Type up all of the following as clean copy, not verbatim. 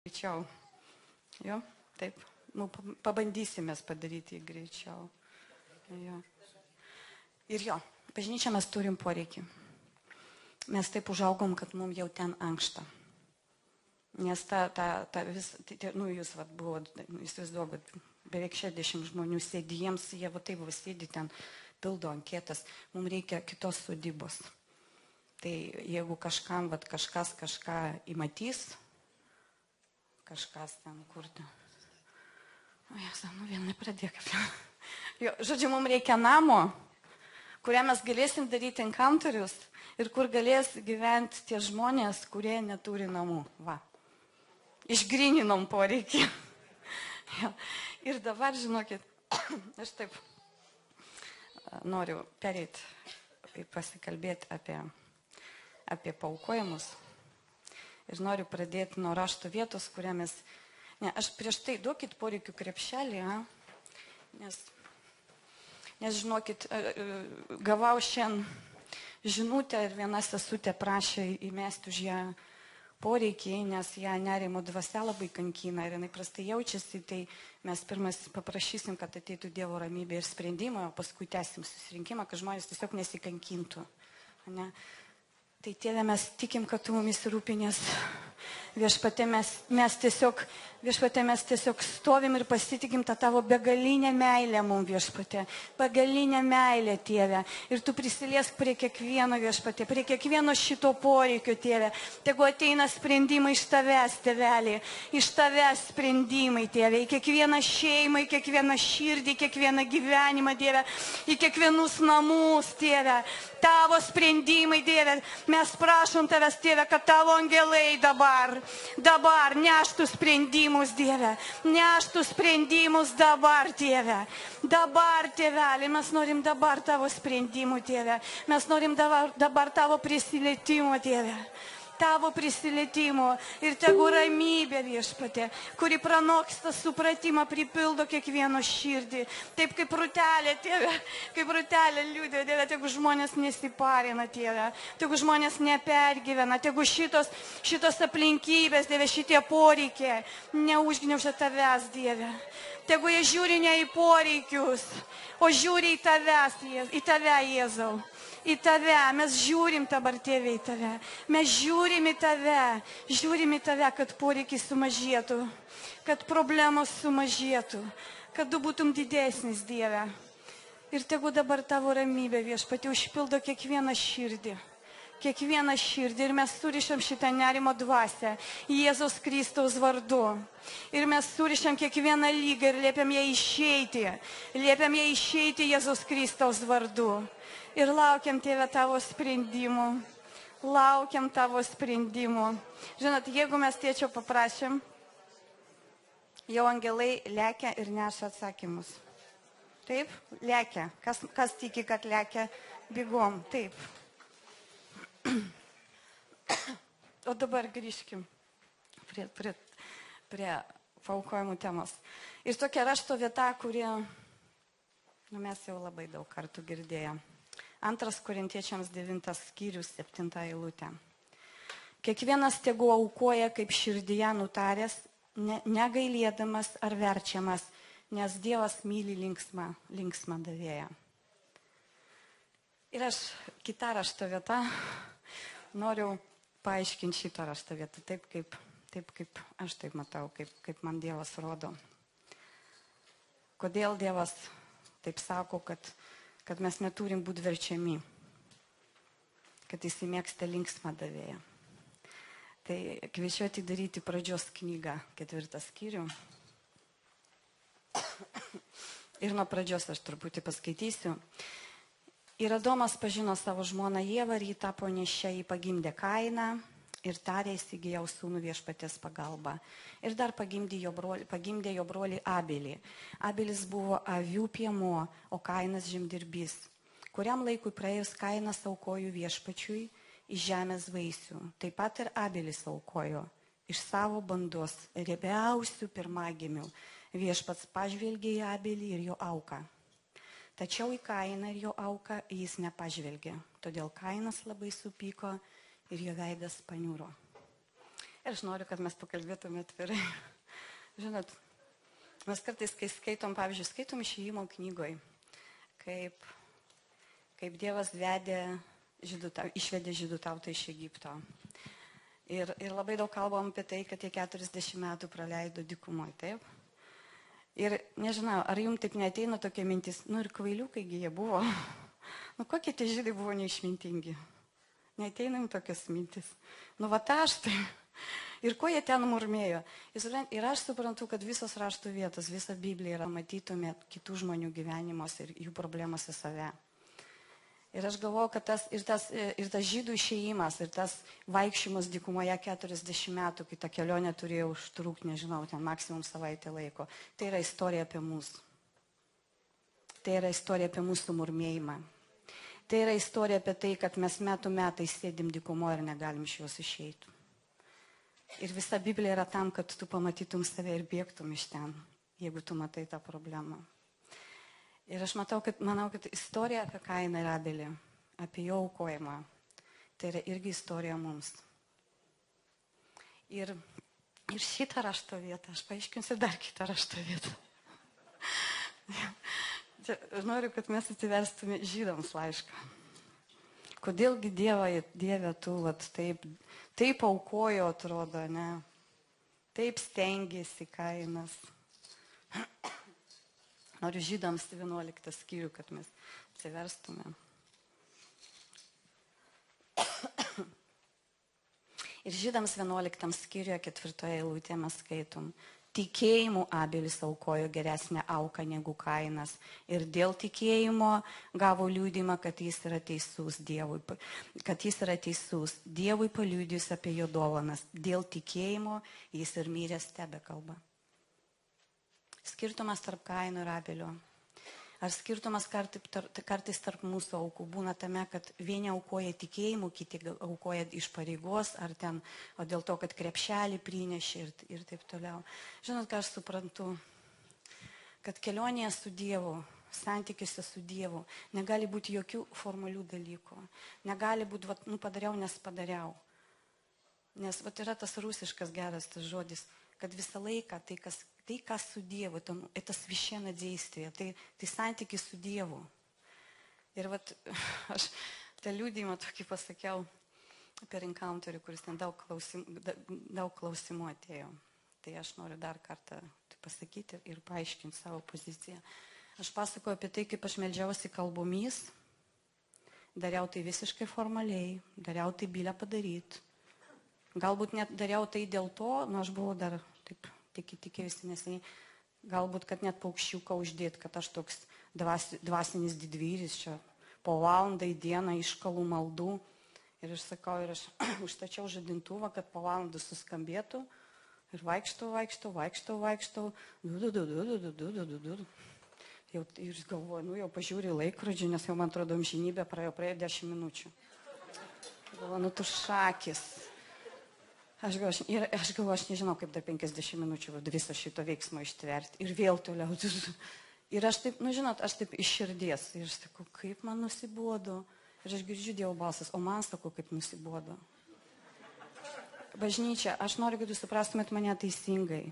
Greičiau. Jo, taip. Nu, pabandysime padaryti greičiau. Jo. Ir jo, bažnyčia mes turim poreikį. Mes taip užaugom, kad mums jau ten ankšta. Nes jūs buvo, įsivaizduokit, beveik 60 žmonių sėdi, jie taip sėdi ten, pildo anketas, mums reikia kitos sodybos. Tai jeigu kažkam, kažkas kažką įmatys, kažkas ten kurti. Vienai pradėk. Žodžiu, mums reikia namo, kurią mes galėsim daryti encounterius ir kur galės gyventi tie žmonės, kurie neturi namų. Va. Išgryninom poreikį. Ir dabar, žinokit, aš taip noriu pereiti ir pasikalbėti apie paaukojimus. Ir noriu pradėti nuo rašto vietos, kurią mes... Aš prieš tai duokit poreikių krepšelį, nes žinokit, gavau šiandien žinutę ir viena sesutė prašė įmesti už ją poreikiai, nes ją nerimo dvasia labai kankina ir jinai prastai jaučiasi, tai mes pirmas paprašysim, kad ateitų Dievo ramybė ir sprendimą, o paskui tęsim susirinkimą, kad žmonės tiesiog nesikankintų. Ne? Tai Tėve, mes tikim, kad tu mumis rūpinės. Viešpatie, mes tiesiog stovim ir pasitikim tą tavo begalinę meilę mums, Viešpatie. Begalinę meilę, Tėve. Ir tu prisiliesk prie kiekvieno, Viešpatie, prie kiekvieno šito poreikio, Tėve. Tegu ateina sprendimai iš tavęs, Tėvelį. Iš tavęs sprendimai, Tėve. Į kiekvieną šeimą, į kiekvieną širdį, į kiekvieną gyvenimą, Tėve. Į kiekvienus namus, Tėve. Tavo sprendimai, Tėve. Mes prašom tavęs, Tėve, kad tavo angelai dabar neštų sprendimus, Dieve. Neštų sprendimus dabar, Tėve. Dabar, Tėvelį, mes norim dabar tavo sprendimų, Tėve. Mes norim dabar tavo prisilietimo, Tėve. Tavo prisilietimo ir tegu ramybė, Viešpatie, kuri pranoksta supratimą, pripildo kiekvieno širdį. Taip kaip rūtelė, Tėve, kaip rūtelė liūdė, Tėve, tegu žmonės nesiparina, Tėve, tegu žmonės nepergyvena, tegu šitos aplinkybės, Tėve, šitie poreikiai neužgniaužia tavęs, Dieve. Tegu jie žiūri ne į poreikius, o žiūri į tave, Jėzau. Į tave, mes žiūrim dabar, Tėve, į tave. Mes žiūrim į tave, kad poreikiai sumažėtų, kad problemos sumažėtų, kad tu būtum didesnis, Dieve. Ir tegu dabar tavo ramybė, Viešpatie, užpildo kiekvieną širdį. Kiekvieną širdį ir mes surišam šitą nerimo dvasią Jėzaus Kristaus vardu. Ir mes surišam kiekvieną lygą ir liepiam ją išeiti. Liepiam ją išeiti Jėzaus Kristaus vardu. Ir laukiam, Tėve, tavo sprendimų. Laukiam tavo sprendimų. Žinot, jeigu mes Tėčio paprašėm, jau angelai lekia ir neša atsakymus. Taip, lekia. Kas tiki, kad lekia bėgom? Taip. O dabar grįžkim prie paaukojimų temos. Ir tokia rašto vieta, kuri mes jau labai daug kartų girdėjom. 2 Korintiečiams 9 skyrius 7 eilutė. Kiekvienas tegu aukoja kaip širdyje nutaręs, negailėdamas ar verčiamas, nes Dievas myli linksmą davėją. Ir aš kitą rašto vietą noriu paaiškinti šitą rašto vietą, taip kaip aš taip matau, kaip man Dievas rodo. Kodėl Dievas taip sako, kad mes neturim būti verčiami, kad jis mėgsta linksmą davėją. Tai kviečiu atidaryti pradžios knygą, 4 skyrių. Ir nuo pradžios aš truputį paskaitysiu. Ir Adomas pažino savo žmoną Ievą ir jį tapo nėščia, jį pagimdė Kainą ir tarė, įsigijau sūnų Viešpaties pagalba. Ir dar pagimdė jo brolį Abelį. Abelis buvo avių piemuo, o Kainas žemdirbys. Kuriam laikui praėjus Kainas aukojo Viešpačiui iš žemės vaisių. Taip pat ir Abelis aukojo iš savo bandos riebiausių pirmagimių. Viešpats pažvelgė į Abelį ir jo auką. Tačiau į Kainą ir jo auką jis nepažvelgė. Todėl Kainas labai supyko ir jo veidas paniuro. Ir aš noriu, kad mes pakalbėtume atvirai. Žinot, mes kartais, kai skaitom, pavyzdžiui, skaitom Išėjimo knygoje, kaip Dievas išvedė žydų tautą iš Egipto. Ir labai daug kalbam apie tai, kad jie 40 metų praleido dykumoje, taip? Ir nežinau, ar jums taip neateina tokia mintis, ir kvailiukai jie buvo. Kokie tie žydai buvo neišmintingi? Neateina jums tokias mintis. Aš tai. Ir ko jie ten murmėjo? Ir aš suprantu, kad visos raštų vietos, visa Biblija yra, matytumėt kitų žmonių gyvenimus ir jų problemas į save. Ir aš galvoju, kad tas žydų išėjimas ir tas vaikščiojimas dykumoje 40 metų, kai ta kelionė turėjo užtrukti, nežinau, ten maksimum savaitę laiko, tai yra istorija apie mus. Tai yra istorija apie mūsų murmėjimą. Tai yra istorija apie tai, kad mes metų metais sėdim dykumoje ir negalim iš jos išeiti. Ir visa Biblija yra tam, kad tu pamatytum save ir bėgtum iš ten, jeigu tu matai tą problemą. Ir aš manau, kad istorija apie Kainą ir Abelį, apie jo aukojimą, tai yra irgi istorija mums. Ir šitą rašto vietą, aš paaiškinsiu dar kitą rašto vietą. Noriu, kad mes atsiverstume Žydams laišką. Kodėlgi Dieve tu taip aukojo, atrodo, ne? Taip stengiasi Kainas. Noriu Žydams 11 skyrių, kad mes atsiverstume. Ir Žydams 11 skyriuje 4 eilutėje mes skaitom. Tikėjimu Abelis aukojo geresnę auką negu Kainas. Ir dėl tikėjimo gavo liudymą, kad jis yra teisus Dievui. Dievui paliudijus apie jo dovanas. Dėl tikėjimo jis ir miręs tebekalba. Skirtumas tarp Kaino ir Abelio. Ar skirtumas kartais tarp mūsų aukų būna tame, kad vieni aukoja tikėjimu, kiti aukoja iš pareigos, ar ten, o dėl to, kad krepšelį prinešė ir taip toliau. Žinot, ką aš suprantu? Kad kelionėje su Dievu, santykiuose su Dievu, negali būti jokių formalių dalykų. Negali būti, padariau, nes padariau. Nes yra tas rusiškas geras tas žodis, kad visą laiką tai, kas su Dievu, это священное действие, tai santykis su Dievu. Ir aš tą liudijimą tokį pasakiau per encounterį, kuris ten daug klausimų atėjo. Tai aš noriu dar kartą pasakyti ir paaiškinti savo poziciją. Aš pasakoju apie tai, kaip aš meldžiausi kalbomis, dariau tai visiškai formaliai, dariau tai bylę padaryti. Galbūt net dariau tai dėl to, aš buvau dar taip tikėjusi neseniai, galbūt, kad net paukščiuką uždėti, kad aš toks dvasinis didvyris čia po valandą į dieną iškalų maldų. Ir aš sakau, ir aš užstačiau žadintuvą, kad po valandą suskambėtų. Ir vaikštau. Ir galvoju, jau pažiūrėjau laikrodžių, nes jau man atrodo amžinybė praėjo 10 minučių. Galvoju, tu šakis. Aš galvoju, aš nežinau, kaip dar 50 minučių viso šito veiksmo ištverti. Ir vėl toliau. Ir aš taip, žinot, aš taip iš širdies. Ir aš sakau, kaip man nusibodo. Ir aš girdžiu Dievo balsas, o man sakau, kaip nusibodo. Bažnyčia, aš noriu, kad jūs suprastumėt mane teisingai.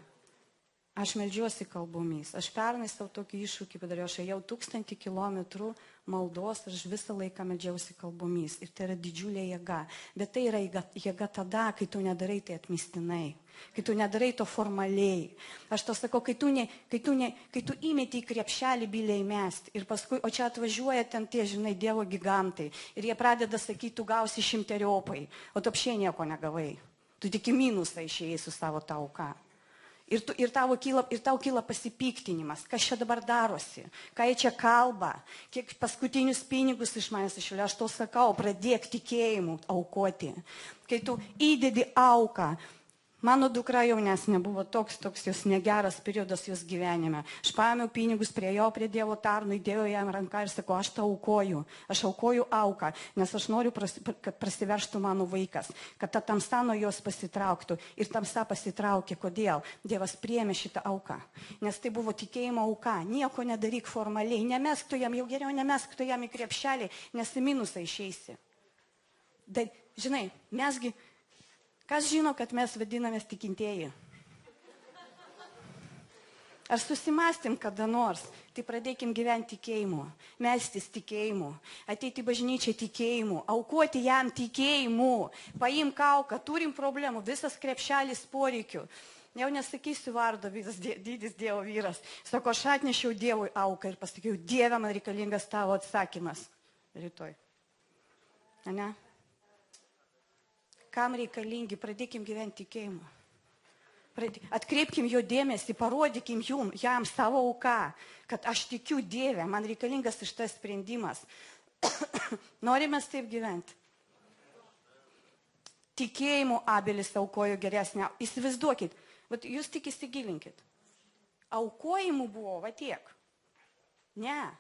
Aš meldžiuosi kalbomis. Aš pernai savo tokį iššūkį padariau. Aš ėjau 1000 kilometrų maldos ir aš visą laiką meldžiausi kalbomis. Ir tai yra didžiulė jėga. Bet tai yra jėga tada, kai tu nedarai tai atmestinai. Kai tu nedarai to formaliai. Aš to sakau, kai tu įmeti į krepšelį bylę įmesti. Ir paskui, o čia atvažiuoja ten tie, Dievo gigantai. Ir jie pradeda sakyti, tu gausi 100-eriopai. O tu apšiai nieko negavai. Tu tik į minusą išėjai su savo tauka. Ir tau kyla pasipiktinimas, kas čia dabar darosi, ką jie čia kalba, kiek paskutinius pinigus iš manęs išėlė. Aš to sakau, pradėk tikėjimu aukoti. Kai tu įdedi auką, mano dukra jaunesnė buvo toks jos negeras periodas jos gyvenime. Aš paėmiau pinigus, priėjau prie Dievo tarno, įdėjau jam ranką ir sakau, aš tau aukoju. Aš aukoju auką, nes aš noriu, kad prasiverštų mano vaikas, kad ta tamsa nuo jos pasitrauktų. Ir tamsa pasitraukė. Kodėl? Dievas priėmė šitą auką. Nes tai buvo tikėjimo auka. Nieko nedaryk formaliai. Nemesk tu jam, jau geriau nemesk tu jam į krepšelį, nes į minusą išeisi. Žinai, mesgi Kas žino, kad mes vadinamės tikintieji? Ar susimastėm kada nors, tai pradėkim gyventi tikėjimu, melstis tikėjimu, ateiti į bažnyčią tikėjimu, aukoti jam tikėjimu, paimk auką, turim problemų, visas krepšelis poreikių. Jau nesakysiu vardo, didis Dievo vyras. Sako, aš atnešiau Dievui auką ir pasakiau, Dieve, man reikalingas tavo atsakymas rytoj. Ne? Kam reikalingi, pradėkim gyventi tikėjimu. Atkreipkim jo dėmesį, parodykim jam savo auką, kad aš tikiu Dievę, man reikalingas šitas sprendimas. Norime taip gyventi. Tikėjimu Abelis aukojo geresnę. Įsivaizduokit, jūs tik įsigilinkit. Aukojimų buvo, va tiek. Ne.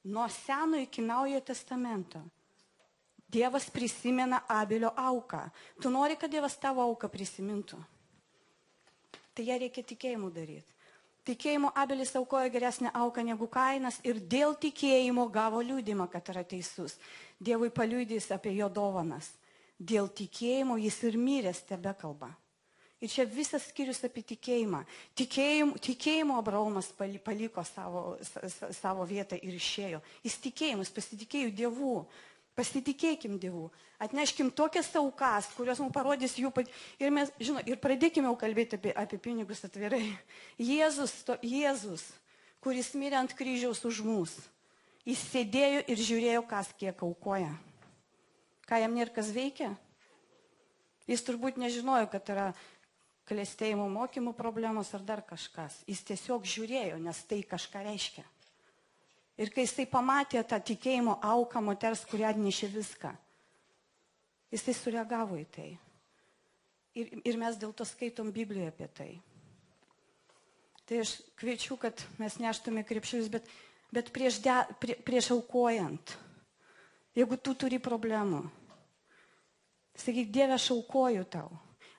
Nuo Seno iki Naujojo testamento. Dievas prisimena Abelio auką. Tu nori, kad Dievas tavo auką prisimintų? Tai ją reikia tikėjimu daryti. Tikėjimu Abelis aukojo geresnę auką negu Kainas ir dėl tikėjimo gavo liudymą, kad yra teisus. Dievui paliudys apie jo dovanas. Dėl tikėjimo jis ir miręs tebekalba. Ir čia visas skyrius apie tikėjimą. Tikėjimo Abraomas paliko savo vietą ir išėjo. Jis tikėjimas, pasitikėjo Dievu. Pasitikėkim Dievu, atneškim tokias aukas, kurios mums parodys jų ir mes, ir pradėkime jau kalbėti apie pinigus atvirai. Jėzus, kuris mirė ant kryžiaus už mus, jis sėdėjo ir žiūrėjo, kas kiek aukoja. Ką jam nėra kas veikia? Jis turbūt nežinojo, kad yra klestėjimo mokymų problemos ar dar kažkas. Jis tiesiog žiūrėjo, nes tai kažką reiškia. Ir kai jisai pamatė tą tikėjimo auką moters, kuri atnešė viską, jisai sureagavo į tai. Ir mes dėl to skaitom Biblijoje apie tai. Tai aš kviečiu, kad mes neštume krepšius, bet prieš aukojant, jeigu tu turi problemų, sakyk, Dieve, aš aukoju tau,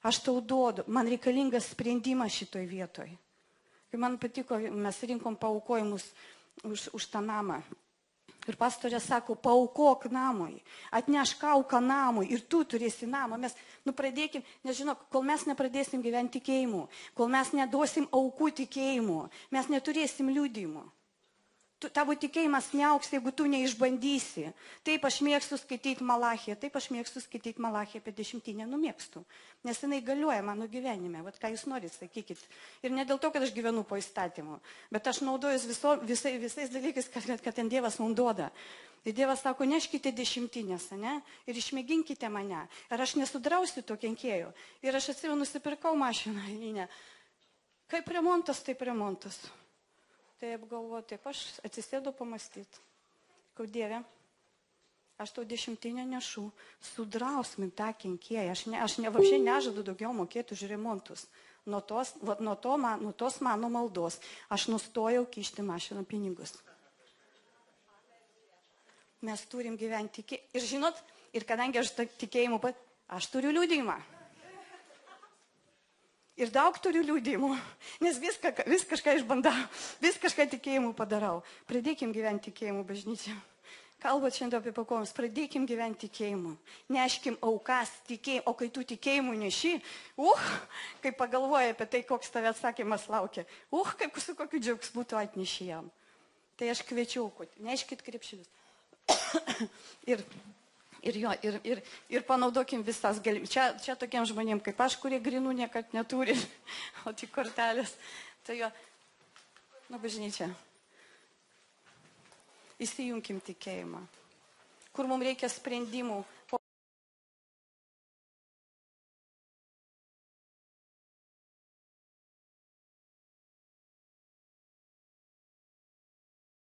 aš tau duodu, man reikalingas sprendimas šitoj vietoj. Kai man patiko, mes rinkom paaukojimus už tą namą. Ir pastorė sako, paaukok namui, atnešk auką namui ir tu turėsi namą. Mes pradėkim, nežinau, kol mes nepradėsim gyventi tikėjimu, kol mes neduosim aukų tikėjimu, mes neturėsim liudijimų. Tavo tikėjimas neauks, jeigu tu neišbandysi. Taip aš mėgstu skaityti Malachiją, apie dešimtinę, mėgstu. Nes jinai galioja mano gyvenime, vat ką jūs norit, sakykit. Ir ne dėl to, kad aš gyvenu po įstatymu, bet aš naudojuсь visais dalykais, kad ten Dievas mums duoda. Ir Dievas sako, neškite dešimtinės, ne? Ir išmėginkite mane. Ir aš nesudrausiu to kenkėjų. Ir aš atsimenu, nusipirkau mašiną. Kaip remontas, taip remontas. Tai apgalvoju, taip aš atsisėdu pamastyti. Kau Dieve, aš tau dešimtinę nešu, sudrausmin tą kenkėją. Aš vapšiai nežadu daugiau mokėti už remontus. Nuo tos mano maldos aš nustojau kišti mašiną pinigus. Mes turim gyventi tikėjimu. Ir žinot, ir kadangi aš tikėjimu, aš turiu liudijimą. Ir daug turiu liudijimų, nes vis kažką išbandau, vis kažką tikėjimu padarau. Pradėkim gyventi tikėjimu bažnyčią. Kalbat šiandien apie pakojimus, pradėkim gyventi tikėjimu. Neškim aukas tikėjimu, o kai tu tikėjimu neši, kai pagalvoji apie tai, koks tave atsakymas laukia, kaip su kokiu džiaugsmu tu atneši jam. Tai aš kviečiau, neškit krepšelius. Ir panaudokim visas galimybes. Čia tokiem žmonėm kaip aš, kurie grinų niekad neturi, o tik kortelės. Tai jo, bažnyčia. Įsijunkim tikėjimą. Kur mums reikia sprendimų,